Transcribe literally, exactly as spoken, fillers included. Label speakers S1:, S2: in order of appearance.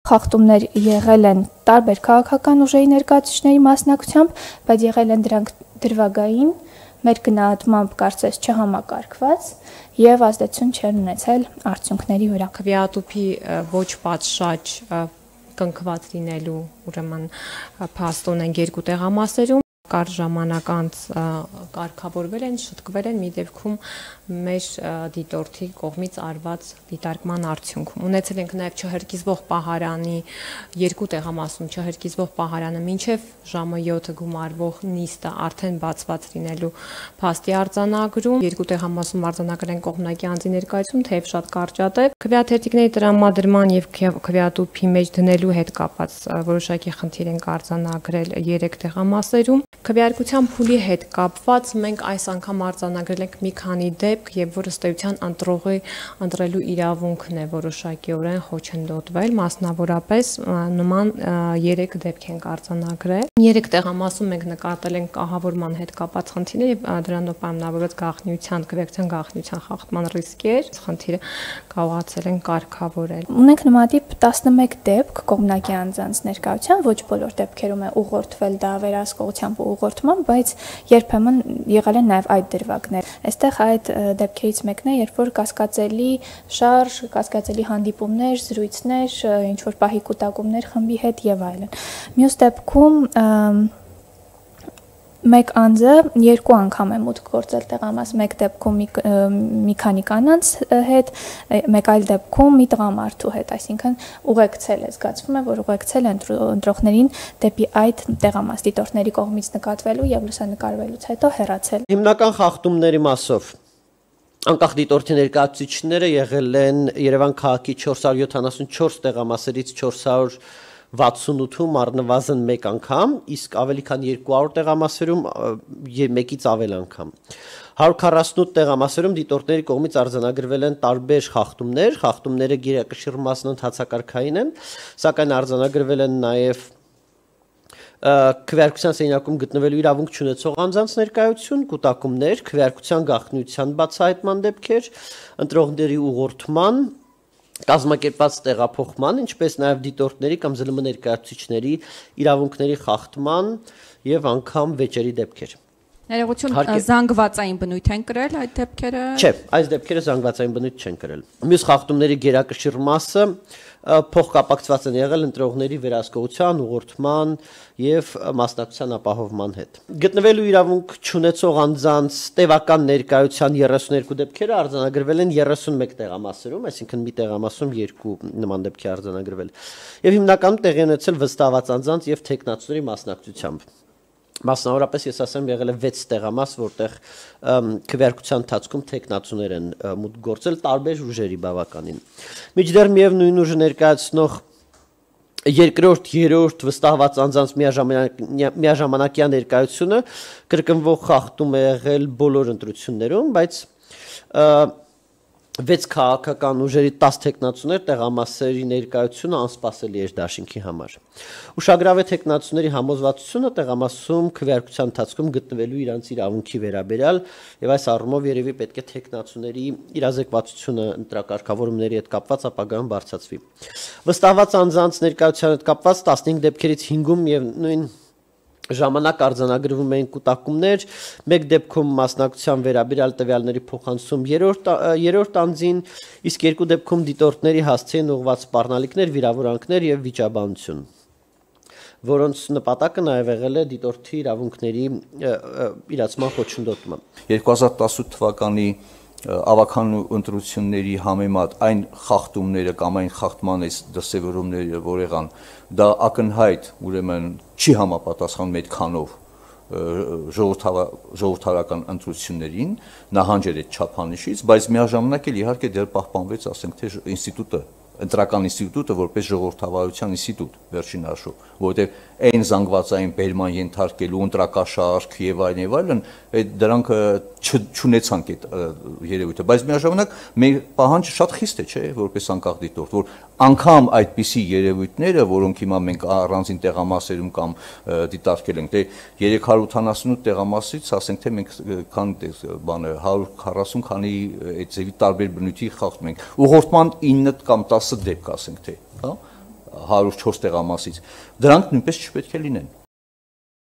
S1: Խախտումներ եղել են տարբեր քաղաքական ուժերի ներկայացուցիչների մասնակցությամբ, բայց եղել են դրանք դրվագային, մեր գնահատմամբ կարծես չհամակարգված եւ ազդեցություն չեն ունեցել արդյունքների վրա։
S2: Քվեատուփի ոչ պատշաճ կնքված լինելու ուրեմն փաստ ունենք երկու տեղամասերում, կար ժամանակ անց կարգավորվել են, շտկվել են մի դեպքում մեր դիտորդի կողմից արված դիտարկման արդյունքում։ Ունեցել ենք նաև չհրկիզվող պահարանի երկու տեղամասում չհրկիզվող պահարանը մինչև ժամը յոթը գումարվող նիստը արդեն բացված լինելու փաստի արձանագրում, երկու տեղամասում արձանագրել են կողմնակի անձի ներկայացում, թեև շատ կարճատև։ Քվեաթերթիկների տրամադրման եւ քվեատուփի մեջ դնելու հետ կապված որոշակի խնդիր են արձանագրել երեք տեղամասերում։ Քվեարկության փուլի հետ կապված մենք այս անգամ արձանագրել ենք մի քանի դեպք, եւ որ ըստ էության ընտրողի ընտրելու իրավունքն է որոշակիորեն խոչընդոտվել, մասնավորապես նման երեք դեպք ենք արձանագրել։ Երեք տեղամասում մենք նկատել ենք կահավորման հետ կապված խնդիրներ եւ դրանով պայմանավորված գաղտնիության, քվեարկության գաղտնիության խախտման ռիսկեր, խնդիրը կարողացել են կարգավորել։
S1: Ունենք նմանատիպ տասնմեկ դեպք կողմնակի անձանց ներկայությամբ, ոչ բոլոր դեպքերում է ուղղորդվել դա վերահսկողությամբ ուղղորդման, բայց երբեմն եղել են նաև այդ դրվագներ։ Այստեղ այդ դեպքերից մեկն է, երբ որ կասկածելի շարժ, կասկածելի հանդիպումներ, զրույցներ, ինչ որ պահի կուտակումներ խմբի հետ եւ այլն։ Մյուս դեպքում մեկ անձը երկու անգամ է մուտք գործել տեղամաս, մեկ դեպքում մի քանի կանանց հետ, մեկ այլ դեպքում մի տղամարդու հետ, այսինքն ուղեկցել է, զգացվում է, որ ուղեկցել է ընտրողներին դեպի այդ տեղամաս դիտորդների կողմից նկատվելու եւ լուսանկարվելուց հետո հեռացել։
S3: Հիմնական խախտումների մասով անկախ դիտորդի ներկայացուցիչները եղել են Երևան քաղաքի չորս հարյուր յոթանասունչորս տեղամասերից չորս հարյուր վաթսունութում առնվազն մեկ անգամ, իսկ ավելի քան երկու հարյուր տեղամասերում մեկից ավել անգամ։ հարյուր քառասունութ տեղամասերում դիտորդների կողմից արձանագրվել են տարբեր խախտումներ, խախտումները գերակշիռ մասն ընդհանցակարգային են, սակայն արձանագրվել են նաև քվեարկության սենյակում գտնվելու իրավունք չունեցող անձանց ներկայություն, կուտակումներ, քվեարկության գաղտնիության բացահայտման դեպքեր, ընտրողների ուղղորդման, կազմակերպված տեղափոխման, ինչպես նաև դիտորդների կամ ԶԼՄ ներկայացուցիչների իրավունքների խախտման եւ անգամ վեճերի դեպքեր։
S4: Ներողություն, զանգվածային բնույթ են կրել այդ դեպքերը։
S3: Չէ, այս դեպքերը զանգվածային բնույթ չեն կրել։ Մյուս խախտումների գերակշիռ մասը փոխկապակցված են եղել ընտրողների վերահսկողության, ուղղորդման եւ մասնակցության ապահովման հետ։ Գտնվելու իրավունք չունեցող անձանց տևական ներկայության երեսուներկու դեպքերը արձանագրվել են երեսունմեկ տեղամասերում, այսինքն մի տեղամասում երկու նման դեպքի արձանագրվել։ Եվ հիմնականում տեղի ունեցել վստահված անձանց եւ թեկնածուների մասնակցությամբ։ Մասնավորապես ես ասեմ եղել է վեց տեղամաս, որտեղ քվեարկության ընթացքում թեկնածուներ են մուտք գործել տարբեր ուժերի բավականին։ Միջդեռ միևնույն ուժը ներկայացնող երկրորդ, երրորդ վստահված անձանց միաժամանակյա ներկայությունը կրկնվող խախտում է եղել բոլոր ընտրություններում, բայց վեց քաղաքական ուժերի տասը թեկնածուներ տեղամասերի ներկայությունը անսպասելի էր դաշինքի համար։ Ուշագրավ է թեկնածուների համոզվածությունը տեղամասում քվեարկության ընթացքում գտնվելու իրանց իրավունքի վերաբերյալ եւ այս առումով երևի պետք է թեկնածուների իրազեկվածությունը ընտրակարգավորումների հետ կապված ապագայում բարձրացվի։ Վստահված անձանց ներկայության հետ կապված տասնհինգ դեպքերից հինգում եւ նույն ժամանակ արձանագրվում էին կուտակումներ, մեկ դեպքում մասնակցության վերաբերյալ տվյալների փոխանցում երրորդ անձին, իսկ երկու դեպքում դիտորդների հասցեին ուղղված սպառնալիքներ, վիրավորանքներ եւ վիճաբանություն, որոնց նպատակը նաեւ եղել է դիտորդի իրավունքների իրացման խոչընդոտումը։
S5: երկու հազար տասութ թվականի ավական ընտրությունների համեմատ այն խախտումները կամ այն խախտման դրսևորումները, որ եղան, դա ակնհայտ ուրեմն չի համապատասխանում այդքանով ժողովրդավարական ընտրություններին, նահանջել այդ չափանիշից, բայց միաժամանակ էլ իհարկե դեռ պահպանվեց, ասենք թե ինստիտուտը, ընտրական ինստիտուտը որպես ժողովրդավարության ինստիտուտ վերջին հաշվով, որովհետև այն զանգվածային բերման ենթարկելու ընտրակաշարք եւ այլն եւ այլն, այդ դրանք չունեցանք այդ երևույթը, բայց միաժամանակ մեր պահանջը շատ խիստ է, չէ, որպես անկախ դիտորդ, որ անգամ այդպիսի երևույթները, որոնք հիմա մենք առանձին տեղամասերում կամ դիտարկել ենք, թե երեք հարյուր ութանասունութ տեղամասից, ասենք թե մենք քանի բանը հարյուր քառասուն քանի այդ ձևի տարբեր բնույթի խախտում ենք, ուղղորդման ինը կամ տասը դեպք, ասենք թե, հա, հարյուր չորս տեղամասից, դրանք նույնպես չպետք է լինեն։